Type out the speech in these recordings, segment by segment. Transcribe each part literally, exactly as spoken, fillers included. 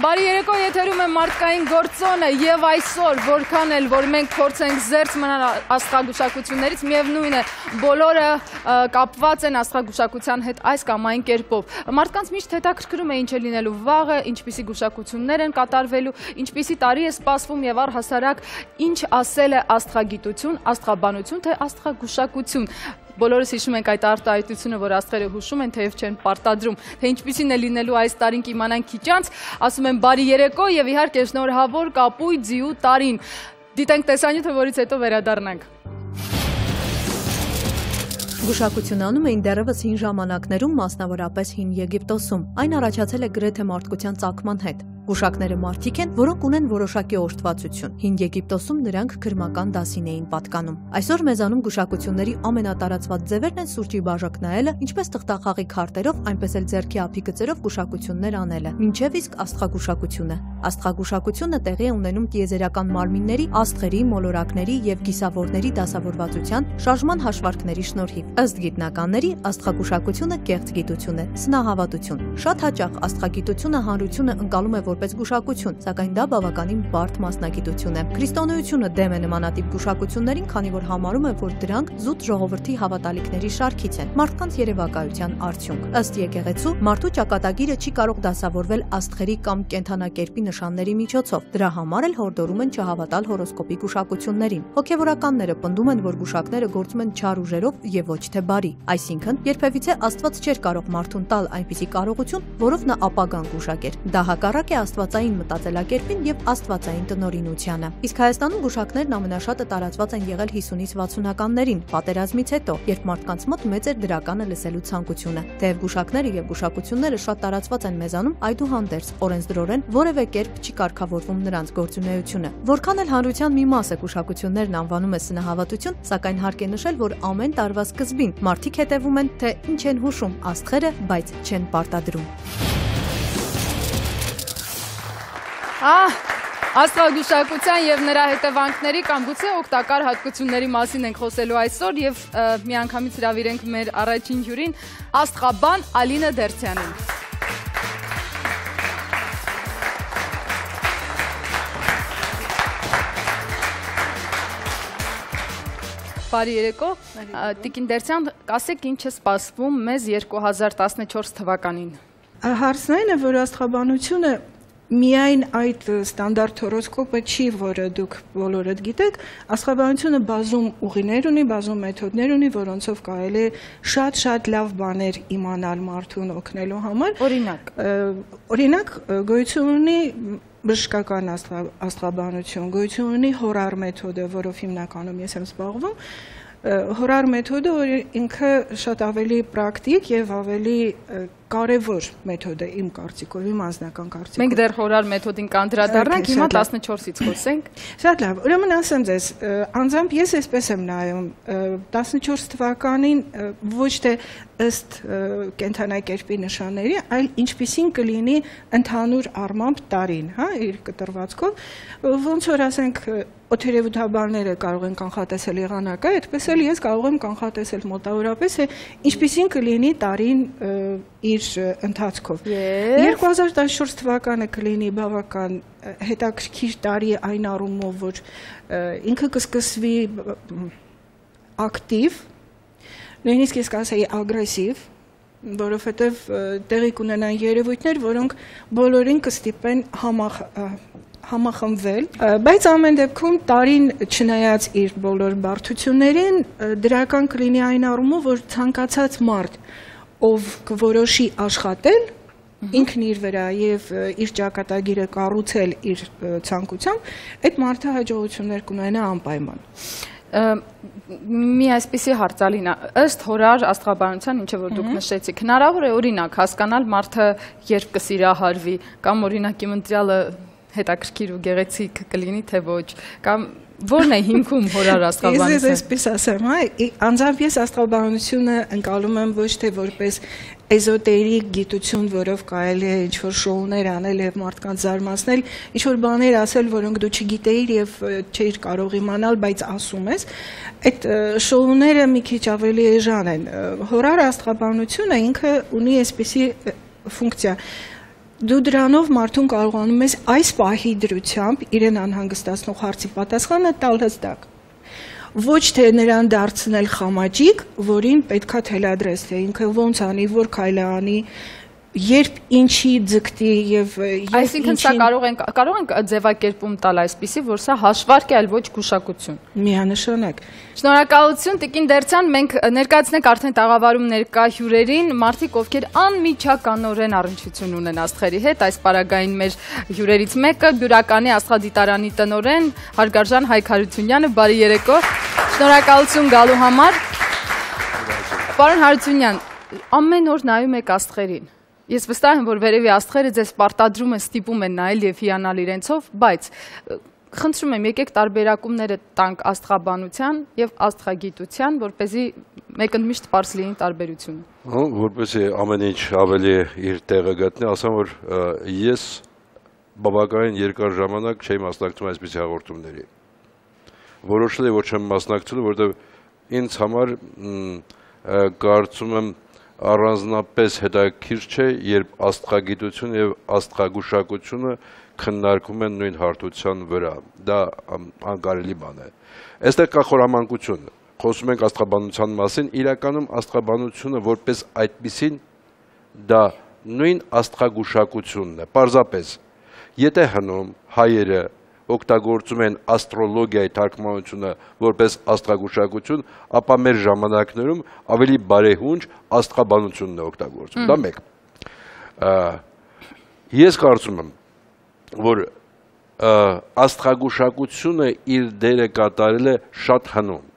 Բարի երեկո, եթերում է մարդկային գործոնը եւ այսօր որքան էլ որ մենք փորձենք զերծ մնալ աստղագուշակություններից, միևնույն է բոլորը կապված են աստղագուշակության հետ այս կամ այն կերպով։ Մարդկանց միշտ հետաքրքրում է ինչ է լինելու վաղը, ինչպիսի գուշակություններ են կատարվելու, ինչպիսի տարի է սպասվում եւ առհասարակ ինչ ասել է աստղագիտություն, աստղաբանություն թե աստղագուշակություն։ Բոլորս հիշում ենք այդ արտահայտությունը, որ աստղերը հուշում են, թեև չեն պարտադրում, թե ինչպիսին է լինելու այս տարին կիմանանք քիչ անց, ասում են բարի երեկո եւ իհարկե շնորհավոր կապույտ ձիու տարին։ Դիտենք տեսանյութը, որից հետո վերադառնանք։ Գուշակություն անում էին դեռևս հին ժամանակներում, մասնավորապես հին Եգիպտոսում։ Այն առաջացել է գրեթե մարդկության ծագման հետ։ Գուշակները մարդիկ են, որոնք ունեն որոշակի օրհտվածություն։ Հին Եգիպտոսում նրանք քրմական դասին էին պատկանում։ Այսօր մեզանում գուշակությունների ամենատարածված ձևերն են սուրճի բաժակ նայելը, ինչպես թղթախաղի քարտերով, այնպես էլ ձեռքի ափի գծերով գուշակություններ անելը։ Մինչև իսկ աստղագուշակությունը։ Աստղագուշակությունը տեղի է ունենում տիեզերական մարմինների, աստղերի, մոլորակների եւ գիսավորների դասավորվածության, շարժման հաշվարկների շնորհիվ։ Ըստ գիտնականների, աստղագուշակությունը կեղծ գիտություն է, սնահավատություն։ Շատ հաճախ աստղագիտությունը հանրությունը ընկալում է որպես գուշակություն, սակայն դա բավականին բարդ մասնագիտություն է։ Քրիստոնեությունը դեմ է նմանատիպ գուշակություններին, քանի որ համարում է, որ դրանք զուտ ժողովրդի հավատալիքների շարքից են, մարդկանց երևակայության արդյունք։ Ըստ եկեղեցու, մարդու ճակատագիրը չի կարող դասավորվել աստղերի կամ կենդանակերպի նշանների միջոցով։ Դրա համար էլ հորդորում են չհավատալ հորոսկոպի գուշակություններին։ Հոգևորականները պնդում են, որ գուշակները գործում են չար ուժերով եւ ոչ թե բարի։ Այսինքն, երբևիցե Աստված չէր կարող մարդուն տալ այնպիսի կարողություն, որով նա ապագան գուշակեր։ Դա հակառակ է աստվածային մտածելակերպին եւ աստվածային տնօրինությանը։ Իսկ Հայաստանում գուշակներն ամենաշատը տարածված են եղել հիսունից վաթսունականներին, պատերազմից հետո, երբ մարդկանց մոտ մեծ էր դրականը լսելու ցանկությունը։ Թեև գուշակները եւ գուշակությունները շատ տարածված են մեզանում, այդուհանդերձ օրենսդրորեն որևէ կերպ չի կարգավորվում նրանց գործունեությունը։ Որքան էլ հանրության մի մասը գուշակություններն անվանում է սնահավատություն, սակայն հարկ է նշել, որ ամեն տարվա սկզբին մարդիկ հետևում են, թե ինչ են հուշում աստղերը, բայց չեն պարտադրում։ Ահ, աստղագուշակության եւ նրա հետևանքների կամ գուցե օգտակար հատկությունների մասին ենք խոսելու այսօր եւ միանգամից հրավիրենք մեր առաջին հյուրին, աստղաբան Ալինա Դերցյանին։ Բարի երեկո, Տիկին Դերցյան, ասեք ինչ է սպասվում մեզ երկու հազար տասնչորս թվականին։ Հարցն այն է, որ աստղաբանությունը միայն այդ ստանդարտ հորոսկոպը չի, որը դուք բոլորդ գիտեք, աստղաբանությունը բազում ուղիներ ունի, բազում մեթոդներ ունի, որոնցով կարելի է շատ-շատ լավ բաներ իմանալ մարդուն օգնելու համար։ Օրինակ, օրինակ գոյություն ունի բժշկական աստղաբանություն, գոյություն ունի հորար մեթոդը, որով հիմնականում ես եմ զբաղվում։ Հորար մեթոդը, որ ինքը շատ ավելի պրակտիկ եւ ավելի կարևոր մեթոդ է իմ կարծիքով, իմ անձնական կարծիքով։ Մենք դեռ հորար մեթոդին կանդրադառնանք, հիմա տասնչորսից խոսենք։ Շատ լավ, ուրեմն ասեմ ձեզ, անձամբ ես այսպես եմ նայում, տասնչորս թվականին ոչ թե ըստ կենդանակերպի նշանների, այլ ինչպիսին կլինի ընդհանուր առմամբ տարին, հա, իր կտրվածքով, ոնց որ ասենք օդերևութաբանները կարող են կանխատեսել եղանակը, այդպես էլ ես կարող եմ կանխատեսել մոտավորապես, ինչպիսին կլինի տարին իր ընթացքով։ երկու հազար տասնչորս թվականը կլինի բավական հետաքրքիր տարի այն առումով, որ ինքը կսկսվի ակտիվ, նույնիսկ ես կասեի ագրեսիվ, որովհետև տեղի կունենան երևույթներ, որոնք բոլորին կստիպեն համախ համախմբվել, բայց ամեն դեպքում տարին չնայած իր բոլոր բարդություններին, դրական կլինի այն առումով, որ ցանկացած մարդ, ով կորոշի աշխատել, ինքն իր վրա եւ իր ճակատագիրը կառուցել իր ցանկությամբ, այդ մարդը հաջողություններ կունենա անպայման։ Մի այսպիսի հարց Ալինա, ըստ հորար աստղաբանության, ինչը որ դուք նշեցիք, հնարավոր է օրինակ հասկանալ մարդը երբ կսիրահարվի, կամ օրինակ իմ ընտրյալը հետաքրքիր ու գեղեցիկ կլինի, թե ոչ, կամ որն է հիմքում հորար աստղաբանությունը։ Ես այսպես ասեմ, անձամբ ես աստղաբանությունը ընկալում եմ ոչ թե որպես էզոտերիկ գիտություն, որով կարելի է ինչ-որ շոուներ անել եւ մարդկանց զարմացնել, ինչ-որ բաներ ասել, որոնք դու չգիտեիր եւ չէիր կարող իմանալ, բայց ասում ես, այդ շոուները մի քիչ ավելի էժան են։ Հորար աստղաբանությունը ինքը ունի այսպիսի ֆունկցիա, Դու դրանով մարդուն կարողանում ես այս պահի դրությամբ իրեն անհանգստացնող հարցի պատասխանը տալ հստակ։ Ոչ թե նրան դարձնել խամաճիկ, որին պետքա թելադրես, թե ինքը ոնց անի, որ քայլ անի, երբ ինչի ձգտի եւ այսինքն սա կարող ենք կարող ենք ձևակերպում տալ այսպիսի, որ սա հաշվարկ է, այլ ոչ գուշակություն։ Միանշանակ։ Շնորհակալություն Տիկին Դերցյան, մենք ներկայացնենք արդեն տաղավարում ներկա հյուրերին, մարդիկ, ովքեր անմիջականորեն առնչություն ունեն աստղերի հետ, այս պարագային մեր հյուրերից մեկը Բյուրականի աստղադիտարանի տնօրեն Հարգարժան Հայկ Հարությունյանը, բարի երեկո։ Շնորհակալություն գալու համար։ Պարոն Հարությունյան, ամեն օր նայում եք աստղերին։ Ես վստահ եմ, որ վերևի աստղերը ձեզ պարտադրում են, ստիպում են նայել եւ հիանալ իրենցով, բայց խնդրում եմ, եկեք տարբերակումները տանք աստղաբանության եւ աստղագիտության, որպեսզի մեկընդմիշտ պարզ լինի տարբերությունը։ Որպեսզի ամեն ինչ ավելի իր տեղը գտնի, ասեմ, որ ես բավականին երկար ժամանակ չէի մասնակցում այսպիսի հաղորդումների։ Որոշել եմ, որ չեմ մասնակցելու, որովհետեւ ինձ համար կարծում եմ առանձնապես հետաքրքիր չէ, երբ աստղագիտությունը եւ աստղագուշակությունը քննարկվում են նույն հարթության վրա։ Դա անկարելի բան է։ Այստեղ կա խորամանկություն։ Խոսում ենք աստղաբանության մասին, իրականում աստղաբանությունը որպես այդպիսին դա նույն աստղագուշակությունն է։ Պարզապես, եթե հնում հայերը օգտագործում են աստրոլոգիայի թարգմանությունը որպես աստղագուշակություն, ապա մեր ժամանակներում ավելի բարեհունչ աստղաբանությունն է օգտագործում։ Դա մեկ։ Ես կարծում եմ, որ աստղագուշակությունը իր դերը կատարել է շատ հնում,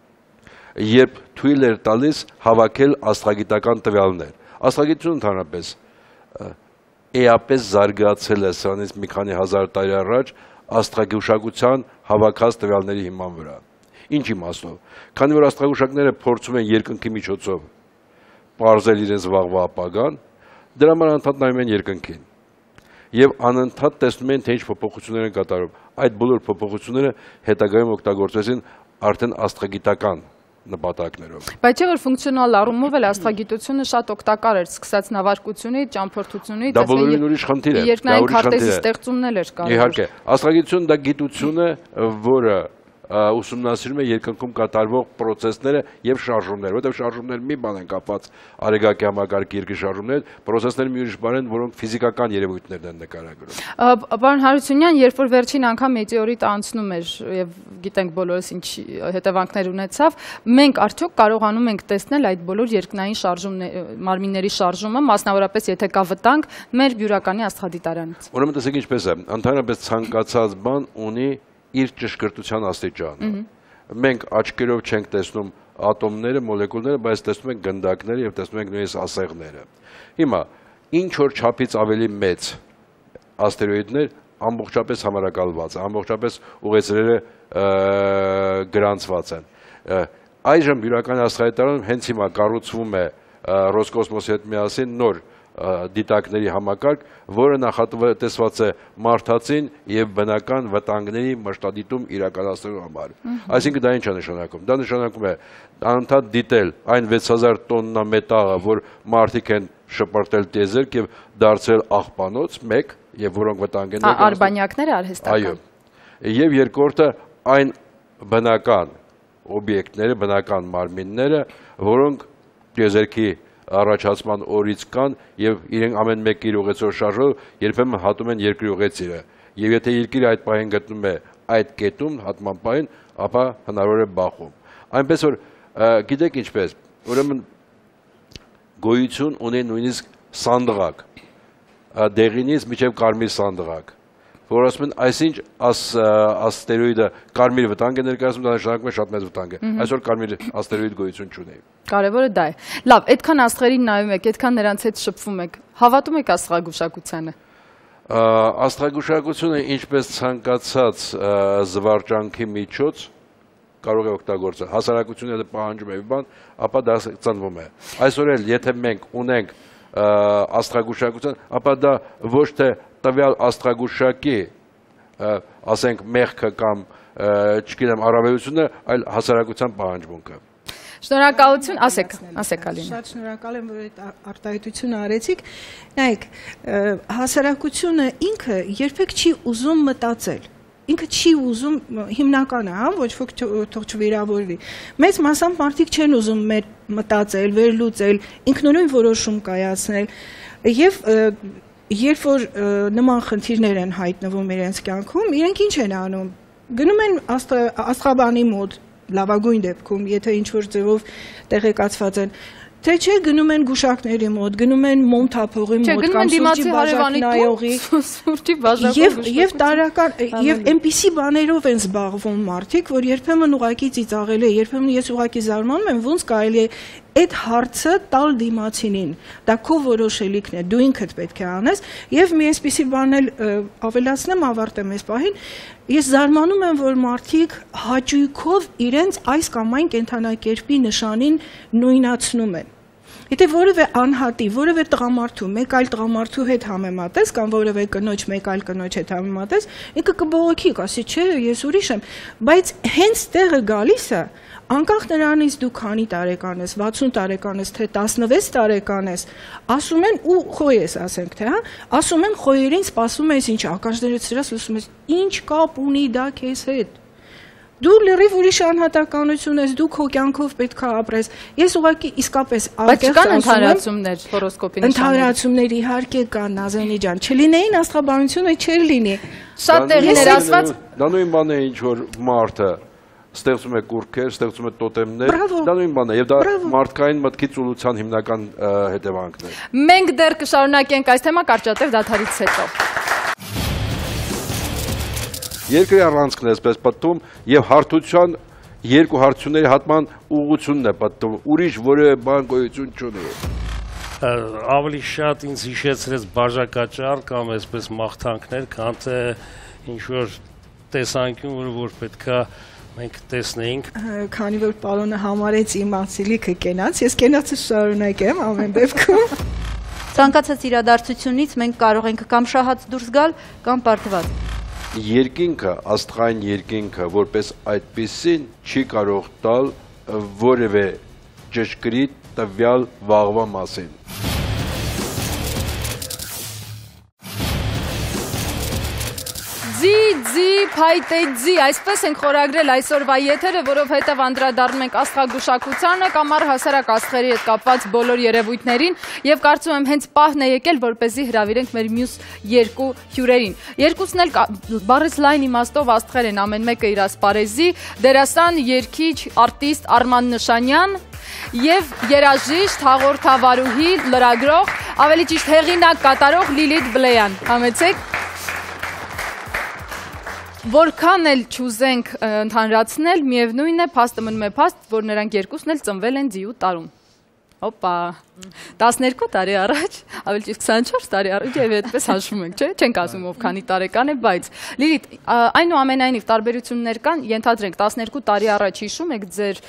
երբ թույլ էր տալիս հավաքել աստղագիտական տվյալներ։ Աստղագիտությունը ընդհանրապես էապես զարգացել է սրանից մի քանի հազար տարի առաջ աստղագուշակության հավաքած տվյալների հիման վրա։ Ինչ իմաստով։ Քանի որ աստղագուշակները փորձում են երկնքի միջոցով պարզել իրենց վաղվա ապագան, դրա համար անընդհատ նայում են երկնքին։ Եվ անընդհատ տեսնում են, թե ինչ փոփոխություններ են կատարում։ Այդ բոլոր փոփոխությունները հետագայում օգտագործվեցին արդեն աստղագիտական նպատակներով։ Բայց չէ՞ որ ֆունկցիոնալ առումով էլ աստղագիտությունը շատ օգտակար էր, սկսած նավարկությունից, ճամփորդությունից, դա բոլորին ուրիշ խնդիր է։ Երկնային քարտեզի ստեղծումն էլ էր կարող։ Իհարկե, աստղագիտությունը դա գիտություն է, որը ուսումնասիրում է երկնքում կատարվող պրոցեսները եւ շարժումները, որտեղ շարժումները մի բան են կապված արեգակի համակարգի երկրի շարժումներ, պրոցեսները մի ուրիշ բան են, որոնք ֆիզիկական երևույթներն են նկարագրում։ Պարոն Հարությունյան, երբ որ վերջին անգամ մետեորիտը անցնում էր եւ գիտենք բոլորս ինչ հետևանքներ ունեցավ, մենք արդյոք կարողանում ենք տեսնել այդ բոլոր երկնային շարժումների, մարմինների շարժումը, մասնավորապես եթե կա վտանգ մեր Բյուրականի աստղադիտարանից։ Ուրեմն տեսեք ինչպես է, ընդհանրապես ցանկացած բան ունի իր ճշգրտության աստիճանը։ Մենք աչքերով չենք տեսնում ատոմները, մոլեկուլները, բայց տեսնում ենք գնդակները եւ տեսնում ենք նույնիսկ ասեղները։ Հիմա ինչ որ չափից ավելի մեծ աստերոիդներ ամբողջապես համարակալված, ամբողջապես ուղեծրերը գրանցված են։ Այժմ Բյուրականի աստղադիտարանում հենց հիմա կառուցվում է Ռոսկոսմոսի հետ միասին նոր դիտակների համակարգ, որը նախատեսված է մարդածին եւ բնական վտանգների մշտադիտում իրականացնելու համար։ Այսինքն դա ինչ է նշանակում։ Դա նշանակում է անընդհատ դիտել այն վեց հազար տոննա մետաղը, որ մարդիկ են շպրտել տիեզերք եւ դարձրել աղբանոց, մեկ, եւ որոնք վտանգ են ներկայացնում։ Արբանյակները արհեստական։ Այո։ Եվ երկրորդը այն բնական օբյեկտները, բնական մարմինները, որոնք տիեզերքի առաջացման օրից կան եւ իրենք ամեն մեկը իր ուղեցով շարժով երբեմն հատում են երկրի ուղեցիրը եւ եթե երկիրը այդ պահին գտնում է այդ կետում հատման պահին, ապա հնարավոր է բախում։ Այնպես որ գիտեք ինչպես, ուրեմն գոյություն ունի նույնիսկ սանդղակ, դեղինից մինչև կարմիր սանդղակ, որ ասում են այսինչ աստերոիդը կարմիր վտանգ է ներկայացնում, դա նշանակում է շատ մեծ վտանգ է։ Այսօր կարմիր աստերոիդ գոյություն չունի։ Կարևորը դա է։ Լավ, այդքան աստղերին նայում եք, այդքան նրանց հետ շփվում եք, հավատում եք աստղագուշակությանը։ Աստղագուշակությունը ինչպես ցանկացած զվարճանքի միջոց կարող է օգտագործել։ Հասարակությունը պահանջում է մի բան, ապա դա ծնվում է։ Այսօր էլ եթե մենք ունենք աստղագուշակություն, ապա դա ոչ թե տվյալ աստղագուշակի, ասենք մեղքը կամ չգիտեմ առավելությունը, այլ հասարակության պահանջմունքը։ Շնորհակալություն, ասեք, ասեք Ալինա։ Շատ շնորհակալ եմ, որ այդ արտահայտությունը արեցիք։ Նայեք, հասարակությունը ինքը երբեք չի ուզում մտածել։ Ինքը չի ուզում հիմնականը, հա, ոչ ոք թող չվիրավորվի։ Մեծ մասամբ մարդիկ չեն ուզում մեր մտածել, վերլուծել, ինքնուրույն որոշում կայացնել։ Եվ երբ որ նման խնդիրներ են հայտնվում իրենց կյանքում, իրենք ինչ են անում։ Գնում են աստղաբանի մոտ, լավագույն դեպքում, եթե ինչ-որ ձևով տեղեկացված են, թե չէ գնում են գուշակների մոտ, գնում են մոնթափողի մոտ կամ սուրճի բաժակնայողի, սուրճի բաժակով եւ տարական եւ այնպիսի բաներով են զբաղվում մարդիկ, որ երբեմն ուղակի ծիծաղելի է, երբեմն ես ուղակի զարմանում եմ, ոնց կարելի է այդ հարցը տալ դիմացինին, դա քո որոշելիքն է, դու ինքդ պետք է անես, եւ մի այսպիսի բան էլ ավելացնեմ, ավարտեմ այս պահին, ես զարմանում եմ, որ մարդիկ հաճույքով իրենց այս կամ այն կենդանակերպի նշանին նույնացնում են։ Եթե որևէ անհատի, որևէ տղամարդու, մեկ այլ տղամարդու հետ համեմատես, կամ որևէ կնոջ, մեկ այլ կնոջ հետ համեմատես, ինքը կբողոքի, կասի, չէ, ես ուրիշ եմ, բայց հենց տեղը գալիս է, անկախ նրանից դու քանի տարեկան ես, վաթսուն տարեկան ես, թե տասնվեց տարեկան ես, ասում են ու խոյ ես, ասենք, թե, հա, ասում են խոյերին սպասում ես ինչ, ականջներից սրած լսում ես, ինչ կապ ունի դա քեզ հետ։ Դու լրիվ ուրիշ անհատականություն ես, դու քո կյանքով պետք է ապրես։ Ես ուղղակի իսկապես անկեղծ ասում եմ, ընդհանրացումներ հորոսկոպի նշաններ։ Ընդհանրացումներ իհարկե կան, Նազենի ջան, չլինեին աստղաբանությունը չէր լինի։ Շատ տեղիներ ասված։ Դա նույն բանն է, ինչ որ մարդը ստեղծում է կուրքեր, ստեղծում է տոտեմներ, դա նույն բանն է, եւ դա մարդկային մտքի ծուլության հիմնական հետևանքն է։ Մենք դեռ կշարունակենք այս թեման կարճատև դադարից հետո։ Երկրի առանցքն է այսպես պատտում եւ հարթության երկու հարթությունների հատման ուղղությունն է պատտում, ուրիշ որևէ բան գոյություն չունի։ Ավելի շատ ինձ հիշեցրեց բաժակաճառ կամ այսպես մաղթանքներ, քան թե ինչ-որ տեսանկյուն, որ պետքա մենք տեսնեինք։ Քանի որ պարոնը համարեց իմ անցիլիքը կենաց, ես կենացը շարունակեմ ամեն դեպքում։ Ցանկացած իրադարձությունից մենք կարող ենք կամ շահած դուրս գալ, կամ պարտված։ Երկինքը, աստղային երկինքը, որպես այդպիսին չի կարող տալ որևէ ճշգրիտ տվյալ վաղվա մասին։ Ձի, ձի, փայտե ձի, այսպես ենք խորագրել այսօրվա եթերը, որովհետև անդրադառնում ենք աստղագուշակությանը կամ առհասարակ աստղերի հետ կապված բոլոր երևույթներին եւ կարծում եմ հենց պահն է եկել, որպեսզի հրավիրենք մեր մյուս երկու հյուրերին։ Երկուսն էլ բառից լայն իմաստով աստղեր են, ամեն մեկը իր ասպարեզի, դերասան, երգիչ, արտիստ Արման Նշանյան եւ երաժիշտ, հաղորդավարուհի, լրագրող, ավելի ճիշտ հեղինակ կատարող Լիլիթ Բլեյան։ Համեցեք։ Որքան էլ չուզենք ընդհանրացնել, միևնույն է, փաստը մնում է փաստ, որ նրանք երկուսն էլ ծնվել են ձիու տարում։ Հոպա, տասներկու տարի առաջ, ավելի ճիշտ քսանչորս տարի առաջ եւ այդպես հաշվում ենք, չէ՞, չենք ասում ով քանի տարեկան է, բայց Լիլիթ, այնուամենայնիվ տարբերություններ կան, ենթադրենք տասներկու տարի առաջ հիշում եք ձեր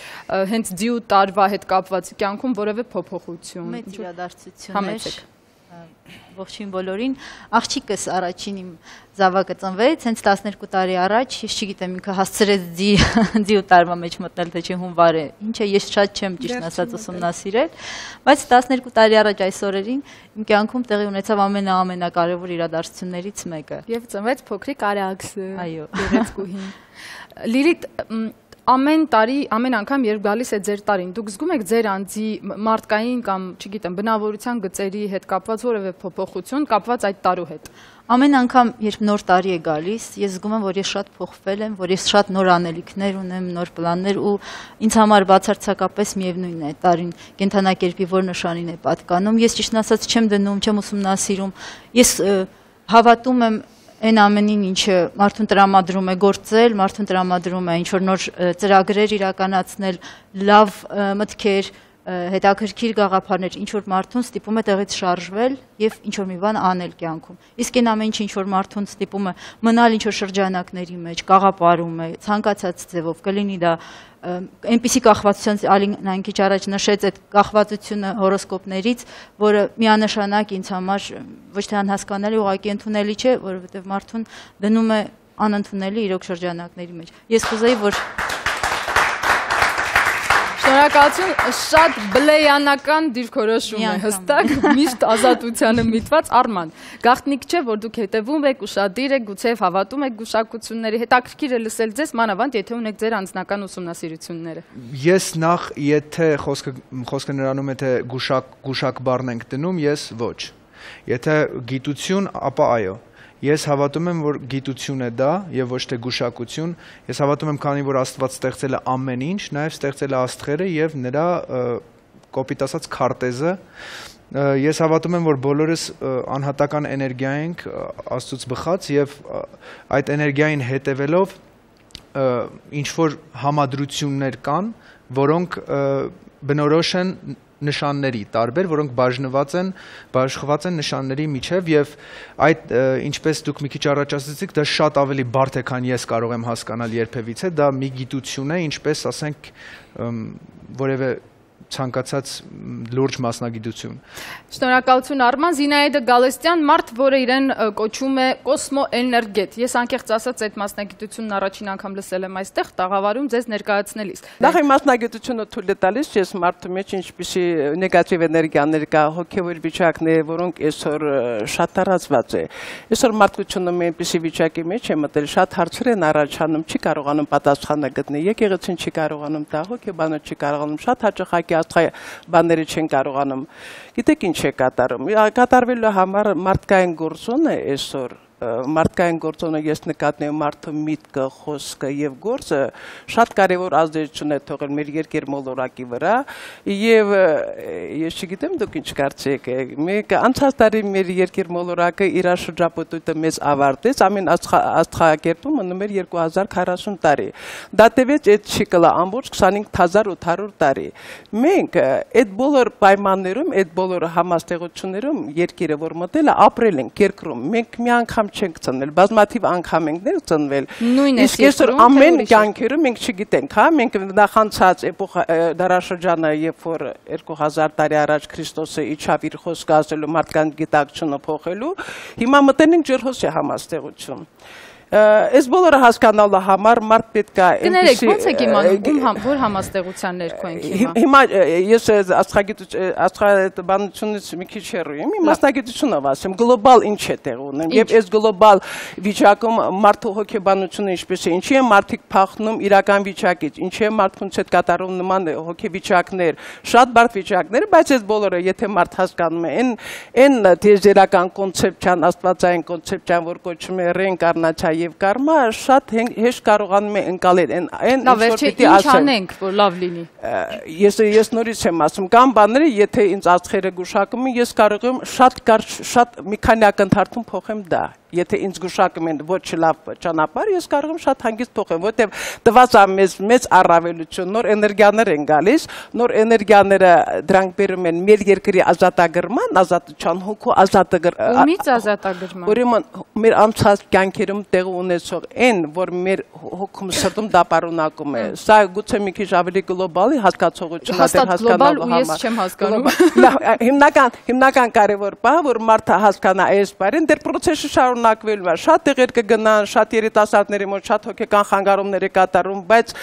հենց ձիու տարվա հետ կապված կյանքում որևէ փոփոխություն։ Մեծ իրադարձություններ։ Ողջույն բոլորին, աղջիկս առաջին իմ զավակը ծնվեց, հենց տասներկու տարի առաջ, ես չգիտեմ ինքը հասցրեց ձիու տարվա մեջ մտնել, թե չէ հունվար է, ինչ է, ես շատ չեմ ճիշտ ասած ուսումնասիրել, բայց տասներկու տարի առաջ այս օրերին իմ կյանքում տեղի ունեցավ ամենաամենակարևոր իրադարձություններից մեկը։ Եվ ծնվեց փոքրիկ Արաքսը։ Այո, գեղեցկուհին։ Լիլիթ, ամեն տարի, ամեն անգամ երբ գալիս է ձեր տարին, դուք զգում եք ձեր անձի մարդկային կամ, չգիտեմ, բնավորության գծերի հետ կապված որևէ փոփոխություն, կապված այդ տարու հետ։ Ամեն անգամ, երբ նոր տարի է գալիս, ես զգում եմ, որ ես շատ փոխվել եմ, որ ես շատ նոր անելիքներ ունեմ, նոր պլաններ ու ինձ համար բացարձակապես միևնույն է տարին կենդանակերպի որ նշանին է պատկանում։ Ես ճիշտ ասած չեմ դնում, չեմ ուսումնասիրում։ Ես հավատում եմ այն ամենին, ինչը մարդուն տրամադրում է գործել, մարդուն տրամադրում է ինչ-որ նոր ծրագրեր իրականացնել, լավ մտքեր, հետաքրքիր գաղափարներ, ինչ-որ մարդուն ստիպում է տեղից շարժվել և ինչ-որ մի բան անել կյանքում։ Իսկ այն ամեն ինչ, ինչ-որ մարդուն ստիպում է մնալ ինչ-որ շրջանակների մեջ, գաղափարում է, ցանկացած ձևով, կլինի դա այնպիսի կախվածության, Ալինան քիչ առաջ նշեց այդ կախվածությունը հորոսկոպներից, որը միանշանակ ինձ համար ոչ թե անհասկանալի, ուղղակի ընդունելի չէ, որովհետև մարդուն դնում է անընդունելի իրոք շրջանակների մեջ։ Ես կուզեի, որ Շնորհակալություն, շատ բլեյանական դիրքորոշում է հստակ, միշտ ազատությանը միտված Արման։ Գաղտնիք չէ, որ դուք հետևում եք, ուշադիր եք, գուցեև հավատում եք գուշակությունների, հետաքրքիր է լսել ձեզ, մանավանդ եթե ունեք ձեր անձնական ուսումնասիրությունները։ Ես նախ, եթե խոսքը խոսքը նրանում է թե գուշակ գուշակ բառն ենք դնում, ես ոչ։ Եթե գիտություն, ապա այո։ Ես հավատում եմ, որ գիտություն է դա եւ ոչ թե գուշակություն։ Ես հավատում եմ, քանի որ Աստված ստեղծել է ամեն ինչ, նաեւ ստեղծել է աստղերը եւ նրա կոպիտ ասած քարտեզը։ Ես հավատում եմ, որ բոլորս անհատական էներգիա ենք Աստծուց բխած եւ այդ էներգիային հետևելով ինչ որ համադրություններ կան, որոնք բնորոշ են նշանների տարբեր, որոնք բաժնված են, բաշխված են նշանների միջև եւ այդ ինչպես դուք մի քիչ առաջ ասացիք, դա շատ ավելի բարդ է, քան ես կարող եմ հասկանալ երբևիցե, դա մի գիտություն է, ինչպես ասենք որևէ ցանկացած լուրջ մասնագիտություն։ Շնորհակալություն Արման, Զինայդա Գալստյան, մարդ, որը իրեն կոչում է կոսմոէներգետ։ Ես անկեղծ ասած այդ մասնագիտությունն առաջին անգամ լսել եմ այստեղ, տաղավարում ձեզ ներկայացնելիս։ Նախ այն մասնագիտությունը թույլ է տալիս, ես մարդու մեջ ինչպիսի նեգատիվ էներգիաներ կա, հոգևոր վիճակներ, որոնք այսօր շատ տարածված է։ Այսօր մարդկությունը մի այնպիսի վիճակի մեջ է մտել, շատ հարցեր են առաջանում, չի կարողանում պատասխանը գտնել, եկեղեցին չի կարողանում տա, հոգեբանը չի կարողանում, շատ հաճախակի բաները չեն կարողանում։ Գիտեք ինչ է կատարում։ Կատարվելու համար մարդկային գործոնը այսօր մարդկային գործոնը ես նկատնում եմ մարդու միտքը, խոսքը եւ գործը շատ կարեւոր ազդեցություն է թողել մեր երկրմոլորակի վրա եւ ես չգիտեմ դուք ինչ կարծեք մեկ անցած տարի մեր երկրմոլորակը իր շրջապատույտը մեզ ավարտեց ամեն աստղակերպում մնում էր երկու հազար քառասուն տարի դա տևեց այդ ցիկլը ամբողջ քսանհինգ հազար ութ հարյուր տարի մենք այդ բոլոր պայմաններում այդ բոլոր համաստեղություններում երկիրը որ մտել է ապրել ենք երկրում մենք մի անգամ չենք ծնվել, բազմաթիվ անգամ ենք ներ ծնվել։ Իսկ այսօր ամեն կյանքերում մենք չգիտենք, հա, մենք նախանցած էպոխա դարաշրջանը, երբ որ երկու հազար տարի առաջ Քրիստոսը իջավ իր խոսքը ասելու մարդկանց գիտակցությունը փոխելու, հիմա մտել ենք ջրհոսի համաստեղություն։ Այս բոլորը հասկանալու համար մարդ պետք է Կներեք, ո՞նց եք իմանում, որ համաստեղության ներքո ենք հիմա։ Հիմա ես աստղաբանությունից մի քիչ հեռու եմ, իմ մասնագիտությունով ասեմ, գլոբալ ինչ է տեղ ունեն, եւ այս գլոբալ վիճակում մարդու հոգեբանությունը ինչպես է, ինչի է մարդիկ փախնում իրական վիճակից, ինչի է մարդկանց հետ կատարում նման հոգեվիճակներ, շատ բարդ վիճակներ, բայց այս բոլորը եթե մարդ հասկանում է, այն դիեզերական կոնցեպցիան, աստվածային կոնցեպցիան, որ կոչվում է ռեինկարնացիա եւ կարմա շատ հեշտ կարողանում է ընկալել այն այն ինչ ինչ անենք որ լավ լինի ես ես նորից եմ ասում կամ բաները եթե ինձ աստղերը գուշակում են ես կարող եմ շատ շատ մի քանի ակնթարթում փոխեմ դա Եթե ինձ գուշակում են ոչ լավ ճանապարհ, ես կարող եմ շատ հանգիստ փոխեմ, որտեղ տված է մեզ մեծ առավելություն, նոր էներգիաներ են գալիս, նոր էներգիաները դրանք բերում են մեր երկրի ազատագրման, ազատության հոգու ազատագրման։ Ումից ազատագրման։ Ուրեմն մեր անցած կյանքերում տեղ ունեցող այն, որ մեր հոգում սրտում դա պարունակում է, սա գուցե մի քիչ ավելի գլոբալ հասկացողություն է հասկանալու համար։ Ես չեմ հասկանում։ Հիմնական հիմնական կարևոր բան, որ մարդը հասկանա այս բառին, դեռ process-ը շարունակվելու է, շատ տեղեր կգնան, շատ երիտասարդների մոտ շատ հոգեկան խանգարումներ է կատարում, բայց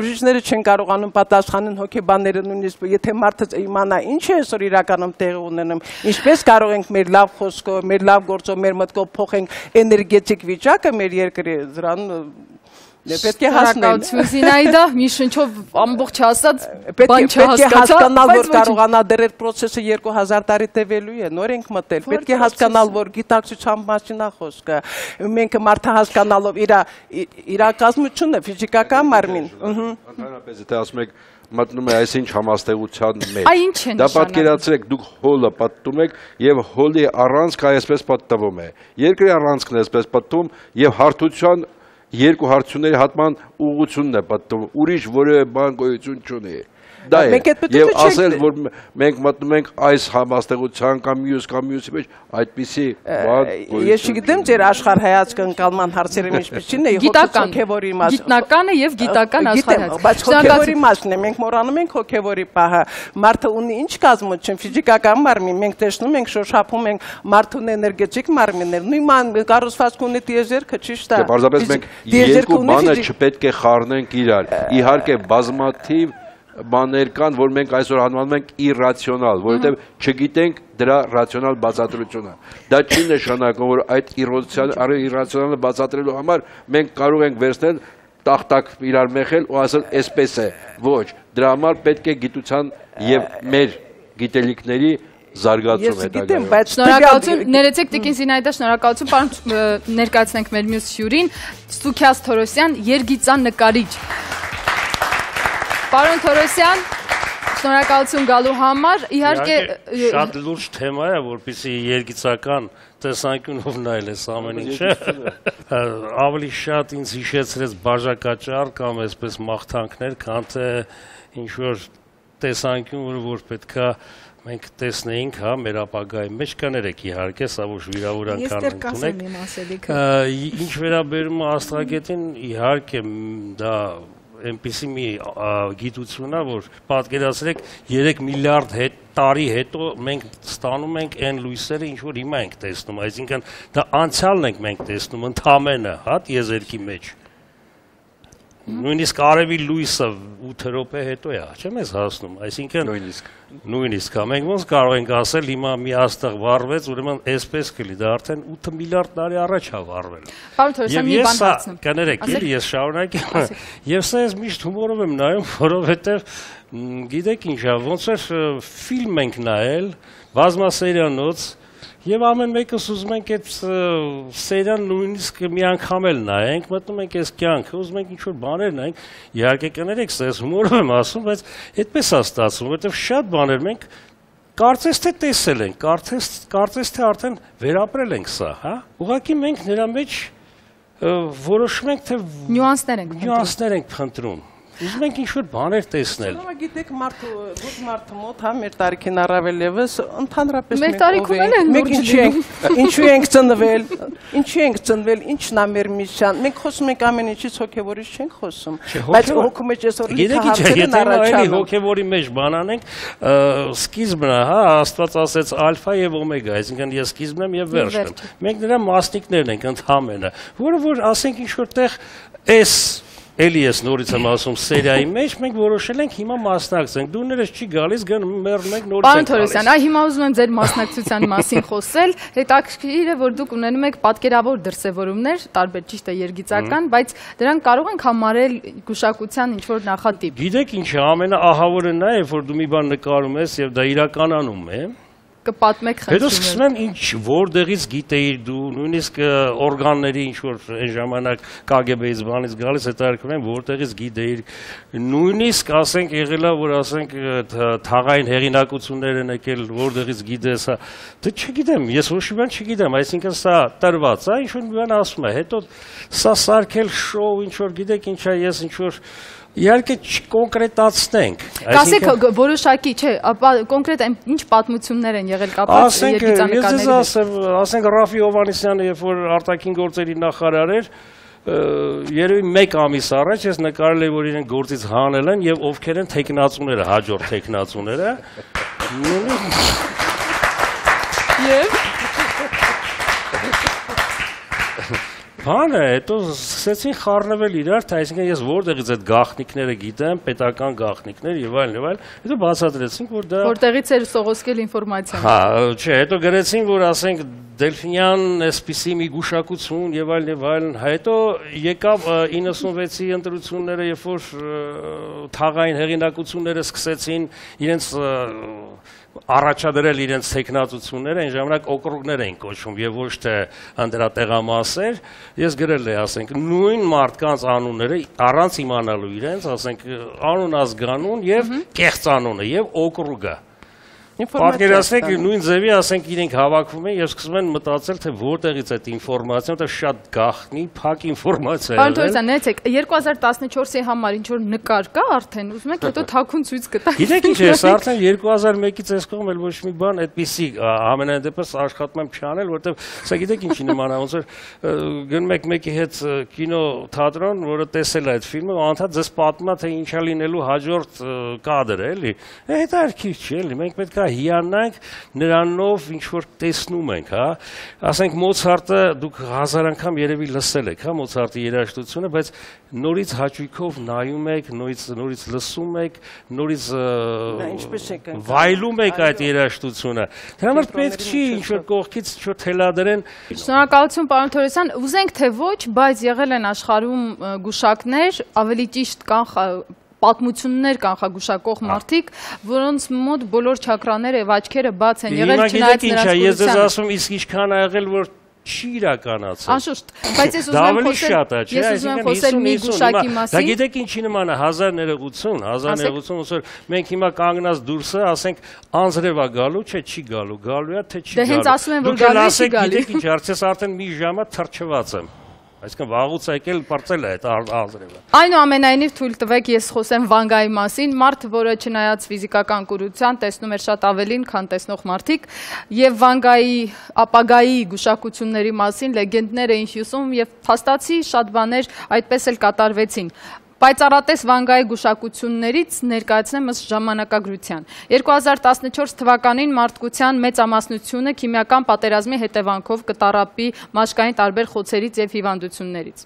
բժիշկները չեն կարողանում պատասխանել հոգեբանները նույնիսկ եթե մարդը իմանա ինչ է այսօր իրականում տեղի ունենում, ինչպես կարող ենք մեր լավ խոսքով, մեր լավ գործով, մեր մտքով փոխենք էներգետիկ վիճակը մեր երկրի դրան Պետք է հասկանալ Զինայդա, մի շնչով ամբողջ ասած բան չհասկացա, պետք է հասկանալ, որ կարողանա դեռ այդ process-ը երկու հազար տարի տևելու է, նոր ենք մտել, պետք է հասկանալ, որ գիտակցության մասին է խոսքը, մենք մարդը հասկանալով իր իրակազմությունը, ֆիզիկական մարմին, ընդհանրապես եթե ասում եք մտնում է այսինչ համաստեղության մեջ։ Դա պատկերացրեք, դուք հոլը պատտում եք եւ հոլի առանցքը այսպես պատտվում է։ Երկրի առանցքն է այսպես պատտվում եւ հարթության երկու հարցությունների հատման ուղղությունն է պատտվում, ուրիշ որևէ բան գոյություն չունի։ Դա է, եւ ասել, որ մենք մտնում ենք այս համաստեղության կամ մյուս կամ մյուսի մեջ, այդպիսի բան գոյություն։ Ես չգիտեմ ձեր աշխարհայացք ընկալման հարցերը ինչպիսին է, հոգեվորի մասը։ Գիտնականը եւ գիտական աշխարհայացք։ Բայց հոգեվորի մասն է, մենք մոռանում ենք հոգեվորի պահը։ Մարդը ունի ինչ կազմություն, ֆիզիկական մարմին, մենք տեսնում ենք, շոշափում ենք մարդուն էներգետիկ մարմիններ, նույն만 կառուցվածք ունի դիեզերքը, ճիշտ է։ Պարզապես մենք երկու բանը չպետք է խառնենք իրար։ Իհարկե բազմաթիվ բաներ կան, որ մենք այսօր անվանում ենք իրացիոնալ, որովհետև չգիտենք դրա ռացիոնալ բացատրությունը։ Դա չի նշանակում, որ այդ իրացիոնալը բացատրելու համար մենք կարող ենք վերցնել տախտակ իրար մեխել ու ասել այսպես է։ Ոչ, դրա համար պետք է գիտության եւ մեր գիտելիքների զարգացում հետագայում։ Շնորհակալություն, ներեցեք Տիկին Զինայդա, շնորհակալություն, պարոն ներկայացնենք մեր մյուս հյուրին, Սուքիաս Թորոսյան, երգիծաննկարիչ։ Պարոն Թորոսյան, շնորհակալություն գալու համար, իհարկե շատ լուրջ թեմա է, որպեսզի երգիծական տեսանկյունով նայել ես ամեն ինչը, ավելի շատ ինձ հիշեցրեց բաժակաճառ կամ այսպես մաղթանքներ, քան թե ինչ-որ տեսանկյուն, որ պետքա մենք տեսնեինք, հա, մեր ապագայի մեջ կներեք իհարկե, սա ոչ վիրավորական ընդունեք։ Ինչ վերաբերում է աստղագետին, իհարկե դա այնպիսի մի գիտություն է, որ պատկերացրեք երեք միլիարդ տարի հետո մենք ստանում ենք այն լույսերը, ինչ որ հիմա ենք տեսնում, այսինքն դա անցյալն ենք մենք տեսնում ընդամենը, հա, տիեզերքի մեջ։ Նույնիսկ արևի լույսը ութ րոպե հետո է, չեմ ես հասնում, այսինքն նույնիսկ նույնիսկ հա մենք ոնց կարող ենք ասել հիմա մի աստղ վառվեց, ուրեմն այսպես կլի, դա արդեն ութ միլիարդ տարի առաջ է վառվել։ Պարոն Թորոսյան, մի բան հարցնում։ Կներեք, էլի ես շարունակեմ։ Եվ սա ես միշտ հումորով եմ նայում, որովհետև գիտեք ինչ է, ոնց էր ֆիլմ ենք նայել, բազմասերիանոց, եւ ամեն մեկս ուզում ենք այդ սերիան նույնիսկ մի անգամ էլ նայենք, մտնում ենք այս կյանքը, ուզում ենք ինչ-որ բաներ նայենք, իհարկե կներեք, սա ես հումորով եմ ասում, բայց այդպես է ստացվում, որովհետեւ շատ բաներ մենք կարծես թե տեսել ենք, կարծես կարծես թե արդեն վերապրել ենք սա, հա։ Ուղղակի մենք նրա մեջ որոշում ենք, թե նյուանսներ ենք նյուանսներ ենք փնտրում։ Ուզում ենք ինչ-որ բաներ տեսնել։ Ուրեմն գիտեք, մարդու ոչ մարդու մոտ, հա, մեր տարիքին առավել եւս ընդհանրապես մեր տարիքում էլ են մենք ինչու ենք ծնվել, ինչու ենք ծնվել, ինչն է մեր միսիան։ Մենք խոսում ենք ամեն ինչից, հոգեվորից չենք խոսում, բայց հոգու մեջ այսօր լիքը հարցեր են առաջանում։ Հոգեվորի մեջ բան անենք, սկիզբն է, հա, Աստված ասեց ալֆա եւ օմեգա, այսինքն ես սկիզբն եմ եւ վերջն եմ։ Մենք նրա մասնիկներն ենք ընդհանրապես, որը որ ասենք ինչ որտեղ էս Էլի ես նորից եմ ասում սերիայի մեջ, մենք որոշել ենք հիմա մասնակցենք, դու ներես չի գալիս, գնում մեռնում ենք նորից ենք գալիս։ Պարոն Թորոսյան, այ հիմա ուզում եմ ձեր մասնակցության մասին խոսել, հետաքրքիր է, որ դուք ունենում եք պատկերավոր դրսևորումներ, տարբեր ճիշտ է երգիծական, բայց դրանք կարող ենք համարել գուշակության ինչ-որ նախատիպ։ Գիտեք ինչ է, ամենաահավորը նա է, որ դու մի բան նկարում ես եւ դա իրականանում է։ Կպատմեք խնդրում եմ։ Հետո սկսում եմ ինչ որտեղից գիտեիր դու, նույնիսկ օրգանների ինչ որ այն ժամանակ Կ Գ Բ-ից բանից գալիս հետաքրքրում եմ որտեղից գիտեիր, նույնիսկ ասենք եղել է որ ասենք թաղային հեղինակություններ են եկել, որտեղից գիտես, դե չգիտեմ, ես ոչ մի բան չգիտեմ, այսինքն սա տրված է, ինչ որ մի բան ասում է, հետո սա սարքել շոու, ինչ որ գիտեք ինչ է, ես ինչ որ Իհարկե չկոնկրետացնենք։ Կասեք որոշակի, չէ, ապա կոնկրետ ինչ պատմություններ են եղել կապված երգիծանկարների հետ։ Ասենք, ասենք Ռաֆի Հովհաննիսյանը, երբ որ արտաքին գործերի նախարար էր, երևի մեկ ամիս առաջ ես նկարել եմ, որ իրեն գործից հանել են եւ ովքեր են թեկնածուները, հաջորդ թեկնածուները։ Եվ Բանը, հետո սկսեցին խառնվել իրար, թե այսինքն ես որտեղից այդ գաղտնիքները գիտեմ, պետական գաղտնիքներ եւ այլն եւ այլն, հետո բացատրեցինք, որ դա որտեղից էր սողոսկել ինֆորմացիան։ Հա, չէ, հետո գրեցին, որ ասենք Դելֆինյան այսպիսի մի գուշակություն եւ այլն եւ այլն, հետո եկավ իննսունվեցի ընտրությունները, երբ որ թաղային հեղինակությունները սկսեցին իրենց առաջադրել իրենց տեխնացությունները, այն ժամանակ օկրուգներ էին կոչվում եւ ոչ թե անդրատեղամասեր, ես գրել եմ, ասենք, նույն մարդկանց անունները առանց իմանալու իրենց, ասենք, անուն ազգանուն եւ կեղծ անունը եւ օկրուգը։ Պատկերացրեք նույն ձևի, ասենք, իրենք հավաքվում են եւ սկսում են մտածել, թե որտեղից այդ ինֆորմացիան, դա շատ գաղտնի, փակ ինֆորմացիա է։ Պարոն Թորոսյան, ներեցեք, երկու հազար տասնչորսի համար ինչ որ նկար կա արդեն, ուզում եք հետո թաքուն ցույց կտա։ Գիտեք ինչ է, սա արդեն երկու հազար մեկից այս կողմ էլ ոչ մի բան այդպիսի ամենայն դեպս աշխատում եմ չանել, որովհետեւ սա գիտեք ինչի նման է, ոնց որ գնում եք մեկի հետ կինո թատրոն, որը տեսել է այդ ֆիլմը, անդադ ձեզ պատմա թե ինչա լինելու հաջորդ կադրը, էլի։ Հետաքրքիր չի, էլի, մենք պետք է պետքա հիանանք նրանով ինչ որ տեսնում ենք, հա։ Ասենք Մոցարտը դուք հազար անգամ երևի լսել եք, հա, Մոցարտի երաժշտությունը, բայց նորից հաճույքով նայում եք, նորից նորից լսում եք, նորից վայելում եք այդ երաժշտությունը։ Դրա համար պետք չի ինչ որ կողքից ինչ որ թելադրեն։ Շնորհակալություն, պարոն Թորոսյան, ուզենք թե ոչ, բայց եղել են աշխարհում գուշակներ, ավելի ճիշտ կան պատմություններ կանխագուշակող մարդիկ, որոնց մոտ բոլոր չակրաները եւ աչքերը բաց են եղել, չնայած նրանց ես ձեզ ասում, իսկ ինչքան ա եղել, որ չի իրականացել։ Անշուշտ, բայց ես ուզում եմ խոսել, ես ուզում եմ խոսել մի գուշակի մասին։ Դա գիտեք ինչի նման է, հազար ներողություն, հազար ներողություն, ոսոր մենք հիմա կանգնած դուրսը, ասենք անձրև է գալու, չէ, չի գալու, գալու է, թե չի գալու։ Դե հենց ասում են, որ գալու է, չի գալու։ Գիտեք ինչ, արդյոք արդեն մի ժամա թրջված եմ։ Այսինքն վաղուց եկել բարձել է այդ անձրևը։ Այնուամենայնիվ թույլ տվեք ես խոսեմ Վանգայի մասին, մարդ, որը չնայած ֆիզիկական կուրության տեսնում էր շատ ավելին, քան տեսնող մարդիկ, եւ Վանգայի ապագայի գուշակությունների մասին լեգենդներ էին հյուսում եւ փաստացի շատ բաներ այդպես էլ կատարվեցին։ Պայծառատես Վանգայի գուշակություններից ներկայացնեմ ըստ ժամանակագրության։ երկու հազար տասնչորս թվականին մարդկության մեծամասնությունը քիմիական պատերազմի հետևանքով կտառապի մաշկային տարբեր խոցերից եւ հիվանդություններից։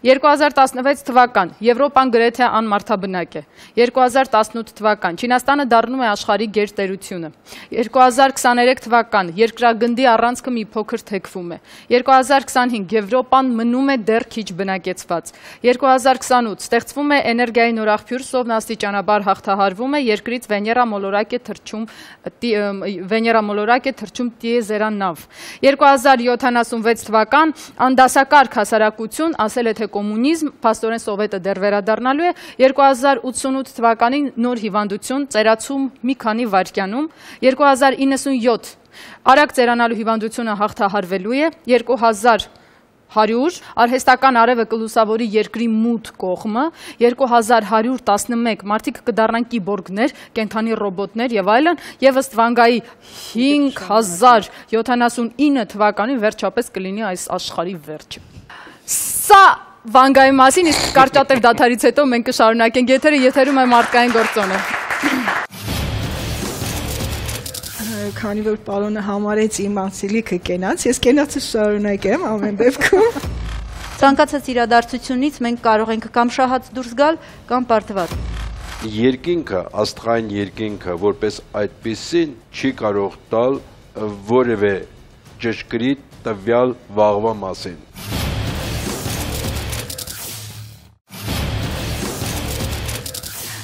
երկու հազար տասնվեց թվական Եվրոպան գրեթե անմարդաբնակ է։ երկու հազար տասնութ թվական Չինաստանը դառնում է աշխարհի գերտերությունը։ երկու հազար քսաներեք թվական երկրագնդի առանցքը մի փոքր թեքվում է։ երկու հազար քսանհինգ Եվրոպան մնում է դեռ քիչ բնակեցված։ երկու հազար քսանութ ստեղծվում է էներգիայի նորաղբյուր, Սովն աստիճանաբար հաղթահարվում է, երկրից Վեներա մոլորակ է թռչում Վեներա մոլորակ է թռչում տիեզերանավ։ երկու հազար յոթանասունվեց թվական անդասակարգ հասարակություն, ասել է թե կոմունիզմ, փաստորեն Սովետը դեռ վերադառնալու է։ երկու հազար ութսունութ թվականին նոր հիվանդություն, ծերացում մի քանի վայրկյանում։ երկու հազար իննսունյոթ արագ ծերանալու հիվանդությունը հաղթահարվելու է։ երկու հազար հարյուր արհեստական արևը կլուսավորի երկրի մութ կողմը, երկու հազար հարյուր տասնմեկ մարդիկ կդառնան կիբորգներ, կենդանի ռոբոտներ եւ այլն, եւ ըստ Վանգայի հինգ հազար յոթանասունինը թվականին վերջապես կլինի այս աշխարհի վերջը։ Սա Վանգայի մասին, իսկ կարճատև դադարից հետո մենք կշարունակենք եթերը, եթերում է մարդկային գործոնը։ Քանի որ պարոնը համարեց իմ անցիլիքը կենաց, ես կենացը շարունակեմ ամեն դեպքում։ Ցանկացած իրադարձությունից մենք կարող ենք կամ շահած դուրս գալ, կամ պարտված։ Երկինքը, աստղային երկինքը, որպես այդպիսին չի կարող տալ որևէ ճշգրիտ տվյալ վաղվա մասին։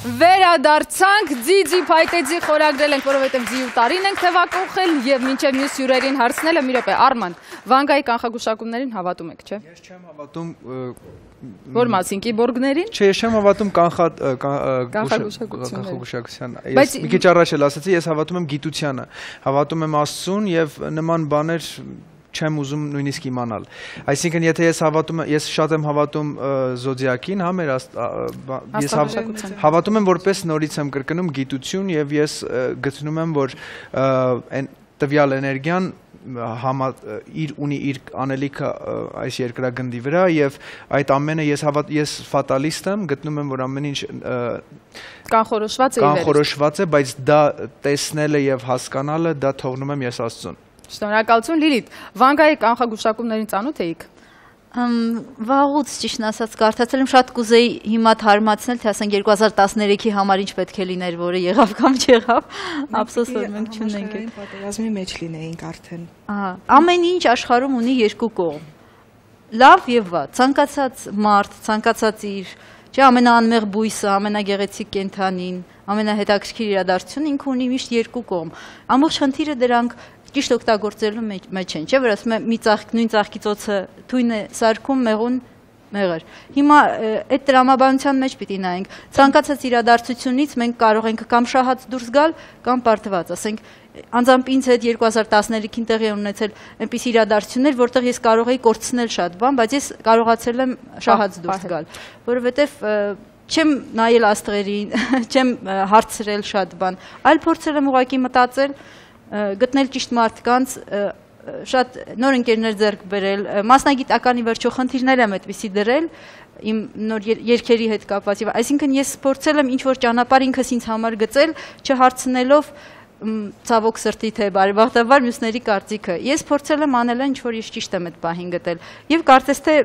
Վերադարձանք, ձի-ձի փայտեձի խորագրել ենք, որովհետև ձի ու տարին ենք թևակողել եւ մինչեւ մյուս հյուրերին հարցնելը մի րոպե, Արման, Վանգայի կանխագուշակումներին հավատում եք, չէ՞։ Ես չեմ հավատում Որ մասին կիբորգներին։ Չէ, ես չեմ հավատում կանխագուշակության։ Ես մի քիչ առաջ էլ ասացի, ես հավատում եմ գիտությանը, հավատում եմ Աստծուն եւ նման բաներ չեմ ուզում նույնիսկ իմանալ։ Այսինքն, եթե ես հավատում եմ, ես շատ եմ հավատում զոդիակին, հա, մեր ես հավատում եմ, որպես նորից եմ կրկնում գիտություն եւ ես գտնում եմ, որ տվյալ էներգիան համա իր ունի իր անելիքը այս երկրագնդի վրա եւ այդ ամենը ես հավատ ես ֆատալիստ եմ, գտնում եմ, որ ամեն ինչ կանխորոշված է կանխորոշված է, բայց դա տեսնելը եւ հասկանալը դա թողնում եմ ես Աստծուն։ Շնորհակալություն Լիլիթ, Վանգայի կանխագուշակումներին ծանոթ էիք։ Վաղուց ճիշտն ասած կարդացել եմ, շատ կուզեի հիմա թարմացնել, թե ասենք երկու հազար տասներեքի համար ինչ պետք է լիներ, որը եղավ կամ չեղավ, ափսոս որ մենք չունենք։ Պատերազմի մեջ լինեինք արդեն։ Ահա, ամեն ինչ աշխարհում ունի երկու կողմ։ Լավ եւ վատ, ցանկացած մարդ, ցանկացած իր, չէ, ամենաանմեղ բույսը, ամենագեղեցիկ կենդանին, ամենահետաքրքիր իրադարձությունը ինքը ունի միշտ երկու կողմ։ Ամբողջ խնդիրը դրանք ճիշտ օգտագործելու մեջ են, չէ՞, որ ասում եմ մի ծաղիկ, նույն ծաղկի ծոցը թույն է սարքում, մեղուն մեղր։ Հիմա այդ տրամաբանության մեջ պիտի նայենք։ Ցանկացած իրադարձությունից մենք կարող ենք կամ շահած դուրս գալ, կամ պարտված, ասենք, անձամբ ինձ հետ երկու հազար տասներեքին տեղի ունեցել այնպիսի իրադարձություններ, որտեղ ես կարող էի կորցնել շատ բան, բայց ես կարողացել եմ շահած դուրս գալ, որովհետև չեմ նայել աստղերին, չեմ հարցրել շատ բան, այլ փորձել եմ ուղղակի մտածել, գտնել ճիշտ մարդկանց, շատ նոր ընկերներ ձեռք բերել, մասնագիտականի վերջո խնդիրներ եմ այդպիսի դրել իմ նոր երգերի հետ կապված, այսինքն ես փորձել եմ ինչ-որ ճանապարհ ինքս ինձ համար գծել, չհարցնելով ցավոք սրտի թե բարեբախտաբար մյուսների կարծիքը։ Ես փորձել եմ անել ինչ որ ես ճիշտ եմ այդ պահին գտել։ Եվ կարծես թե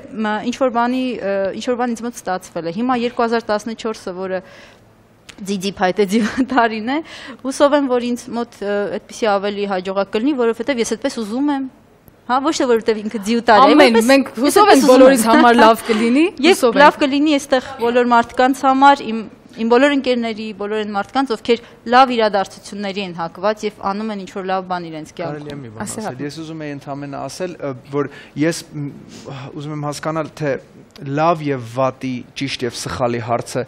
ինչ որ բանի ինչ որ բան ինձ մոտ ստացվել է։ Հիմա երկու հազար տասնչորսը, որը ձիձի փայտե տարին է, հուսով եմ, որ ինձ մոտ այդպեսի ավելի հաջողակ կլինի, որովհետև ես այդպես ուզում եմ։ Հա, ոչ թե որովհետև ինքը ձիու տարի է, ամեն մենք հուսով ենք բոլորիս համար լավ կլինի, հուսով ենք։ Լավ կլինի այստեղ բոլոր մարդկանց համար, իմ իմ բոլոր ընկերների, բոլոր այն մարդկանց, ովքեր լավ իրադարձությունների են հակված եւ անում են ինչ-որ լավ բան իրենց կյանքում։ Ես ուզում եի ընդհանրապես ասել, որ ես ուզում եմ հասկանալ, թե լավ եւ վատի, ճիշտ եւ սխալի հարցը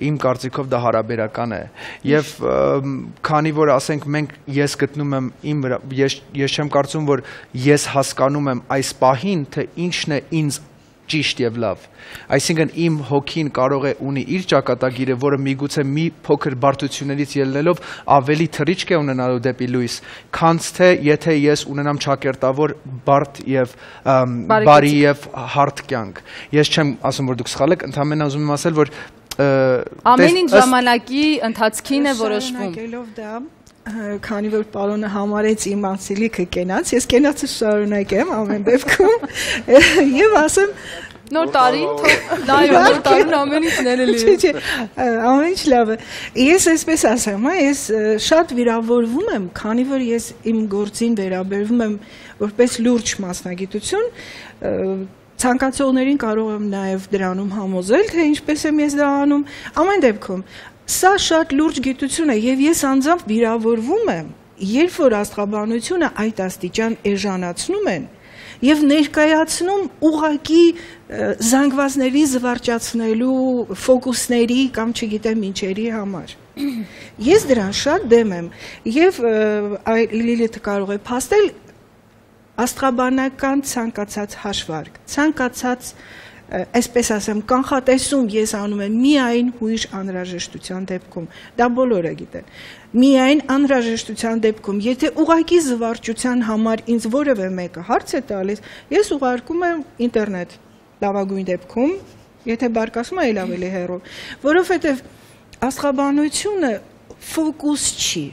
իմ կարծիքով դա հարաբերական է եւ քանի որ ասենք մենք ես գտնում եմ իմ ես ես չեմ կարծում որ ես հասկանում եմ այս պահին թե ինչն է ինձ ճիշտ եւ լավ այսինքն իմ հոգին կարող է ունի իր ճակատագիրը որը միգուցե մի փոքր բարդություններից ելնելով ավելի թռիչք է ունենալու դեպի լույս քանց թե եթե ես ունենամ ճակերտավոր բարդ եւ բարի եւ հարթ կյանք ես չեմ ասում որ դուք սխալ եք ընդհանրապես ուզում եմ ասել որ ամեն ինչ ժամանակի ընթացքին է որոշվում Շարունակելով դա քանի որ պարոնը համարեց իմ անսիլիքը կենաց ես կենացը շարունակեմ ամեն դեպքում եւ ասեմ նոր տարին լայվ նոր տարին ամեն ինչ ներելի է չէ ամեն ինչ լավ է ես այսպես ասեմ հա ես շատ վիրավորվում եմ քանի որ ես իմ գործին վերաբերվում եմ որպես լուրջ մասնագիտություն ցանկացողներին կարող եմ նաև դրանում համոզել, թե ինչպես եմ ես դա անում, ամեն դեպքում, սա շատ լուրջ գիտություն է և ես անձամբ վիրավորվում եմ, երբ որ աստղաբանությունը այդ աստիճան էժանացնում են և ներկայացնում ուղղակի զանգվածների զվարճացնելու ֆոկուսների կամ չգիտեմ ինչերի համար։ Ես դրան շատ դեմ եմ և Լիլիթը կարող է փաստել աստղաբանական ցանկացած հաշվարկ, ցանկացած, այսպես ասեմ, կանխատեսում ես անում եմ միայն հույժ անհրաժեշտության դեպքում, դա բոլորը գիտեն, միայն անհրաժեշտության դեպքում, եթե ուղղակի զվարճության համար ինձ որևէ մեկը հարց է տալիս, ես ուղարկում եմ ինտերնետ, լավագույն դեպքում, եթե բարկասում է էլ ավելի հեռու, որովհետև աստղաբանությունը ֆոկուս չի,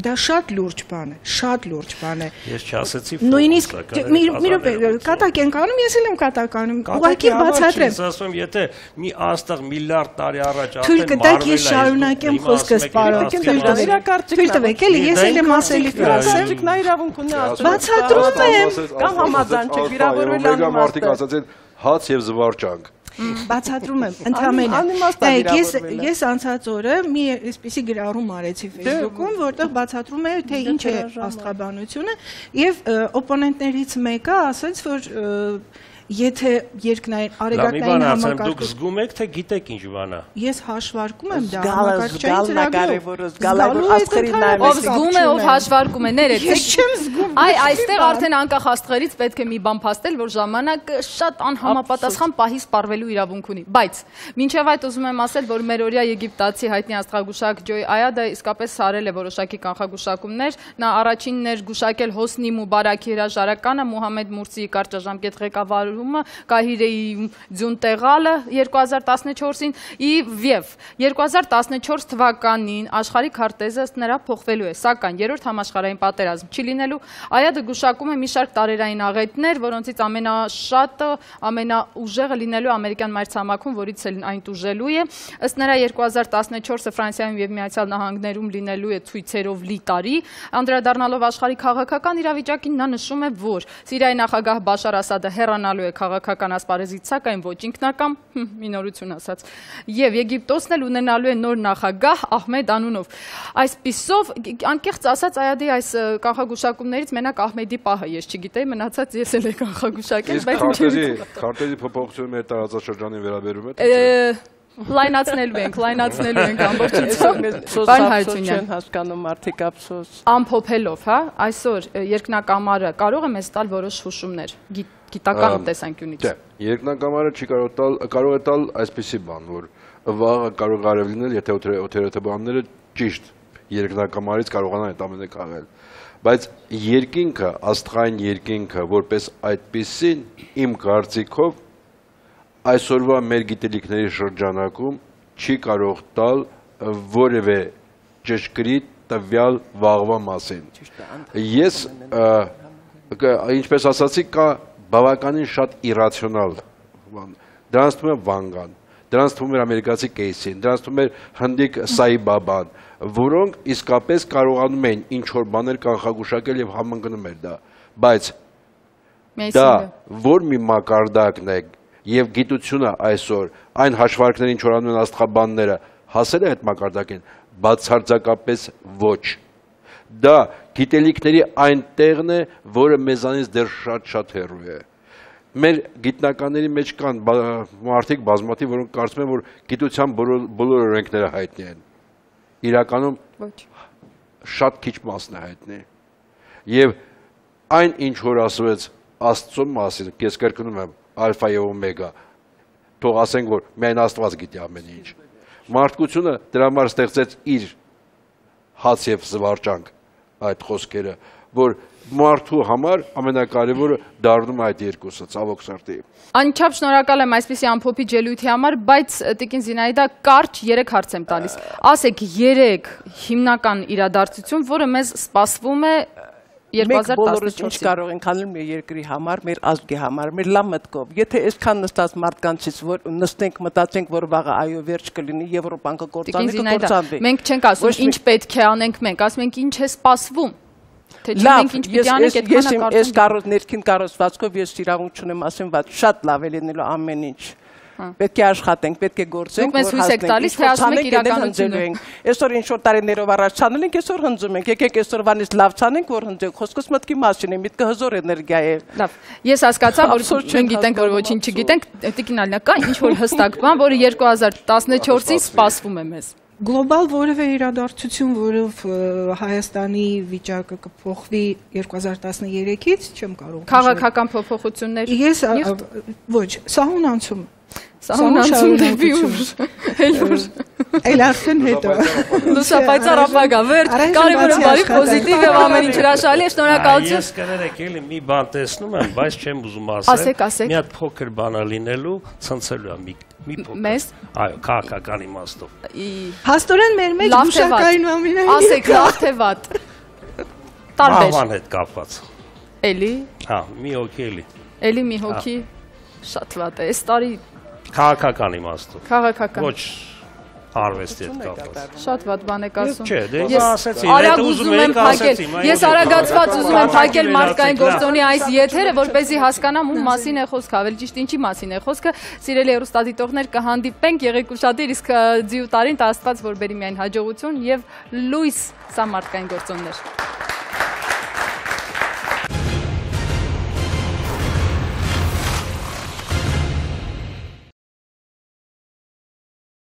դա շատ լուրջ բան է, շատ լուրջ բան է։ Ես չասեցի նույնիսկ մի րոպե կատակ ենք անում, ես էլ եմ կատակ անում, ուղղակի բացատրեմ։ Ես ասում եմ, եթե մի աստղ միլիարդ տարի առաջ արդեն մարվել է, թույլ կտակ ես շարունակեմ խոսքս, պարոն, թույլ տվեք, էլի ես էլ եմ ասելիքը ասեմ։ Նա իրավունք ունի ասում։ Բացատրում եմ։ Կամ համաձայն չեք վիրավորել անում մարդիկ ասած են հաց եւ զվարճանք։ Բացատրում եմ, ընդհանրապես ես ես անցած օրը մի այսպիսի գրառում արեցի Facebook-ում, որտեղ բացատրում է թե ինչ է աստղաբանությունը եւ օպոնենտներից մեկը ասաց, որ եթե երկնային արեգակնային համակարգը դուք զգում եք թե գիտեք ինչ բան է։ Ես հաշվարկում եմ դա համակարգչային ծրագրով։ Ով զգում է, ով հաշվարկում է, ներեցեք։ Ես չեմ զգում։ Այ այստեղ արդեն անկախ աստղերից պետք է մի բան փաստել, որ ժամանակը շատ անհամապատասխան պահի սպառվելու իրավունք ունի։ Բայց մինչև այդ ուզում եմ ասել, որ մեր օրյա եգիպտացի հայտնի աստղագուշակ Ջոյ Այադը իսկապես արել է որոշակի կանխագուշակումներ։ Նա առաջինն էր գուշակել Հոսնի Մուբարաքի հրաժարականը, Մուհամեդ Մուրսիի կարճաժամկետ ղեկավարումը Կահիրեի ձյուն տեղալը երկու հազար տասնչորսին եւ երկու հազար տասնչորս թվականին աշխարհի քարտեզը ըստ նրա փոխվելու է, սակայն երրորդ համաշխարհային պատերազմ չի լինելու։ Այադը գուշակում է մի շարք տարերային աղետներ, որոնցից ամենաշատը, ամենաուժեղը լինելու ամերիկյան մայրցամաքում, որից էլ այն տուժելու է։ Ըստ նրա երկու հազար տասնչորսը Ֆրանսիայում եւ Միացյալ Նահանգներում լինելու է ցույցերով լի տարի։ Անդրադառնալով աշխարհի քաղաքական իրավիճակին նա նշում է, որ Սիրիայի նախագահ Բաշար Ասադը հեռանալու է քաղաքական ասպարեզից, սակայն ոչ ինքնակամ, մինորություն ասած, եւ Եգիպտոսն էլ ունենալու է նոր նախագահ Ահմեդ անունով։ Այսպիսով, անկեղծ ասած, Այադի այս կանխագուշակումներից մենակ Ահմեդի պահը ես չգիտեի, մնացած ես էլ եմ կանխագուշակել, բայց ինչ քարտեզի փոփոխությունը մեր տարածաշրջանին վերաբերում է։ Լայնացնելու ենք, լայնացնելու ենք ամբողջությամբ։ Պարոն Հարությունյան, հասկանում մարդիկ ափսոս։ Ամփոփելով, հա, այսօր երկնակամարը կարող է մեզ տալ որոշ հուշումներ գիտական տեսանկյունից։ Չէ, երկնակամարը չի կարող տալ, կարող է տալ այսպիսի բան, որ վաղը կարող արև լինել, եթե օթերոթաբանները ճիշտ երկնակամարից կարողանան այդ ամենը քաղել։ Բայց երկինքը, աստղային երկինքը, որպես այդպիսին իմ կարծիքով այսօրվա մեր գիտելիքների շրջանակում չի կարող տալ որևէ ճշգրիտ տվյալ վաղվա մասին։ Ես ինչպես ասացի, կա բավականին շատ իրացիոնալ բան։ Դրանց թվում է Վանգան, դրանց թվում է ամերիկացի Կեյսին, դրանց թվում է հնդիկ Սայբաբան, որոնք իսկապես կարողանում են ինչ որ բաներ կանխագուշակել եւ համընկնում էր դա, բայց դա որ մի մակարդակն է եւ գիտությունը այսօր այն հաշվարկներին ինչ որ անում են աստղաբանները հասել է այդ մակարդակին, բացարձակապես ոչ։ Դա գիտելիքների այն տեղն է, որը մեզանից դեռ շատ-շատ հեռու է։ Մեր գիտնականների մեջ կան մարդիկ բազմաթիվ, որոնք կարծում են, որ գիտության բոլոր օրենքները հայտնի են։ Իրականում շատ քիչ մասն է հայտնի։ Եվ այն ինչ որ ասվեց Աստծո մասին, ես կրկնում եմ ալֆա եւ օմեգա, թող ասենք, որ միայն Աստված գիտի ամեն ինչ։ Մարդկությունը դրա համար ստեղծեց իր հաց եւ զվարճանք այդ խոսքերը, որ մարդու համար ամենակարևորը դառնում է այդ երկուսը, ցավոք սրտի։ Անչափ շնորհակալ եմ այսպիսի ամփոփիչ ելույթի համար, բայց Տիկին Զինայդա, կարճ երեք հարց եմ տալիս։ Ասեք երեք հիմնական իրադարձություն, որը մեզ սպասվում է Մենք բոլորս ինչ կարող ենք անել մեր երկրի համար, մեր ազգի համար, մեր լավ մտքով։ Եթե այսքան նստած մարդկանցից որ նստենք, մտածենք, որ վաղը այո վերջ կլինի, Եվրոպան կկործանվի, կկործանվի։ Մենք չենք ասում ինչ պետք է անենք մենք, ասում ենք ինչ է սպասվում։ Թե չենք ինչ պիտի անենք, այդքանը կարծում եմ։ Ես կարող ներքին կառուցվածքով ես իրավունք չունեմ ասեմ, բայց շատ լավ է լինելու ամեն ինչ։ Պետք է աշխատենք, պետք է գործենք, որ հասնենք, թե ասում եք իրականությունը։ Այսօր ինչ որ տարիներով առաջ ցանել ենք, այսօր հնձում ենք, եկեք այսօրվանից լավ ցանենք, որ հնձենք, խոսքս մտքի մասին է, միտքը հզոր էներգիա է։ Լավ, ես հասկացա, որ մենք գիտենք, որ ոչինչ չգիտենք, Տիկին Ալինա, կա ինչ որ հստակ բան, որը երկու հազար տասնչորսին սպասվում է մեզ։ Գլոբալ որևէ իրադարձություն, որով Հայաստանի վիճակը կփոխվի երկու հազար տասներեքից, չեմ կարող։ Քաղաքական փոփոխություններ։ Ես ոչ, սահուն անցում Սահուն անցում դեպի ուր, էլ ուր, էլ արդեն հետո։ Լուսապայծառ ապագա, վերջ, կարևորը բարի, պոզիտիվ եւ ամեն ինչ հրաշալի է, շնորհակալություն։ Ես կներեք էլի մի բան տեսնում եմ, բայց չեմ ուզում ասել։ Ասեք, ասեք։ Մի հատ փոքր բան է լինելու, ցնցելու է մի մի փոքր։ Մեզ։ Այո, քաղաքական իմաստով։ Հաստորեն մեր մեջ գուշակային ամենայն։ Ասեք, լավ թե վատ։ Տարբեր։ Մահվան հետ կապված։ Էլի։ Հա, մի հոգի էլի։ Էլի մի հոգի շատ վատ է, այս տարի Քաղաքական իմաստով։ Քաղաքական։ Ոչ արվեստի հետ կապված։ Շատ վատ բան եք ասում։ Չէ, դե ես ասեցի, արագ ուզում եմ փակել։ Ես արագացված ուզում եմ փակել մարդկային գործոնի այս եթերը, որպեսզի հասկանամ ում մասին է խոսքը, ավելի ճիշտ ինչի մասին է խոսքը։ Սիրելի հեռուստադիտողներ, կհանդիպենք, եղեք ուշադիր, իսկ ձիու տարին տա Աստված որ բերի միայն հաջողություն եւ լույս սա մարդկային գործոններ։